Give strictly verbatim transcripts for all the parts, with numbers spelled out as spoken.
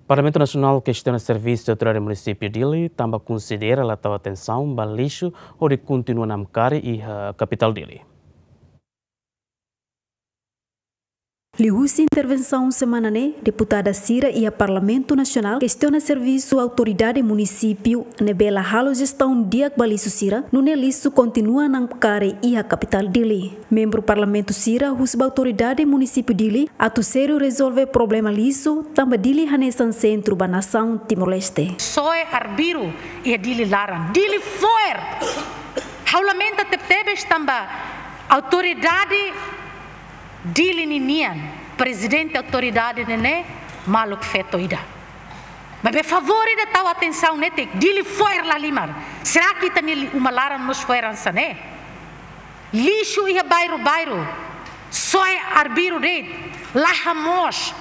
Parlamentu Nasionál kestiona servisu Autoridade Munisípiu Dili, tanba konsidera la tau atensaun ba lixu hodi kontinua namkari iha kapitál Dili. Liuhusi intervensaun semana ne'e, deputada sira iha Parlamentu Nasionál kestiona servisu Autoridade Munisípiu ne'ebé la halo jestaun di'ak ba lixu sira, nune'e lixu kontinua namkari iha kapitál Dili. Membru Parlamentu sira husu ba Autoridade Munisípiu Dili atu sériu rezolve problema lixu, tanba Dili hanesan sentru ba nasaun Timor-Leste. Soe arbiru iha Dili laran, Dili fo'er. Ha'u lamenta tebetebes tanba autoridade Dili ninian, prezidente autoridade ne'e ne'e maluk feto ida. Maibé favór ida tau atensaun netik, Dili fo'er lahalimar. Será que ita-nia li-, uma laran mós fo'er hanesan ne'e? Lixu iha bairru-bairru, soe arbiru de'it, la hamoos.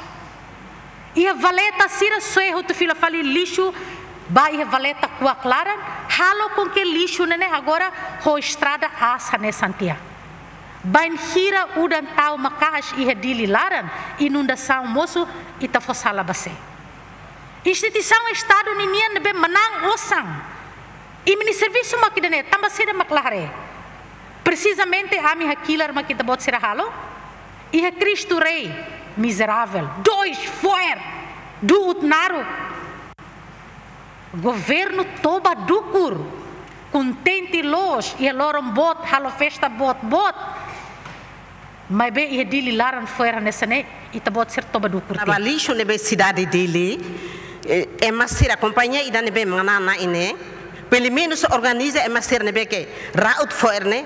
Iha valeta sira soe hotu fila fali lixu ba iha valeta kuak laran, halo com que lixu ne'e ne'e agora ho estrada aas hanesan tiha. Bainhira udan tau maka'as iha Dili laran, inundasaun mosu, ita fó sala ba sé? Instituisaun Estadu ninian ne'ebé manán osan. Imi-nia servisu mak ida-ne'e, tanba saida mak la haree? Presizamente ami hakilar mak ita-boot sira halo? Iha Cristo Rei, mizerável. Dois, fo'er, du'ut naruk. Governu toba dukur, kontente loos, iha loron boot, halo festa boot-boot. Maibé iha Dili laran fo'er hanesan ne'e, ita-boot sira toba dukur tiha. Ba lixu ne'ebé sidade Dili, eh, ema sira kompañia ida ne'ebé manán ne'e, pelumenus organiza ema sira ne'ebé ke ra'ut fo'er ne'e,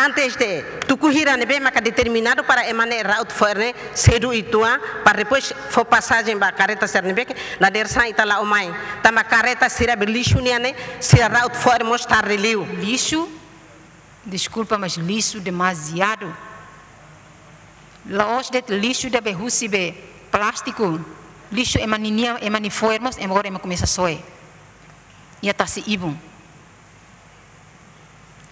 antes de tuku hira ne'ebé maka determinadu para ema ne'e ra'ut fo'er ne'e, sedu uitoan, para depois fó pasajen ba kareta sira ne'ebé ke, la de'it sai ita la'o mai. Tanba kareta sira be lixu nian ne'e, sira ra'ut fo'er mós tarde liu. Lixu, deskulpa, mas lixu demasiadu. La'ós de'it lixu ida be husi be plástiku, lixu ema ninian, ema nia fo'er mós, ema agora ema komesa soe. Iha tasi-ibun.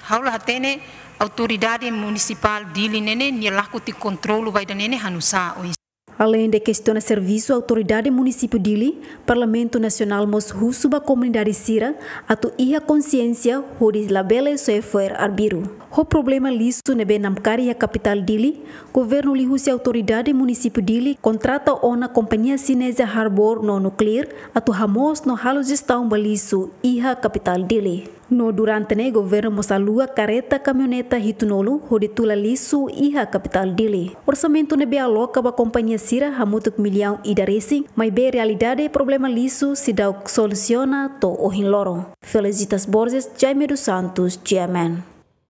Ha'u la hatene autoridade munisipál Dili ne'e ne'e, nia lakohi kontrolu ba ida-ne'e ne'e hanusá oinsá. Aleinde kestiona servisu Autoridade Munisípiu Dili, Parlamentu Nasionál mós husu ba komunidade sira atu iha konsiénsia hodi labele soe fo'er arbiru. Ho problema lixu ne'ebé namkari iha kapitál Dili, governu liuhusi Autoridade Munisípiu Dili kontrata ona kompañia xineza Harbor no Nuclear atu hamoos no halo jestaun ba lixu iha kapitál Dili. No durante ne'e governu mós alua kareta kamioneta hitunulu hodi tula lixu iha kapitál Dili. Orsamentu ne'ebé aloka ba kompañia sira hamutuk millaun ida resin, maibé realidade problema lixu seidauk solusiona to'o ohin loron. Felicitas Borges, Jaime dos Santos, G M N.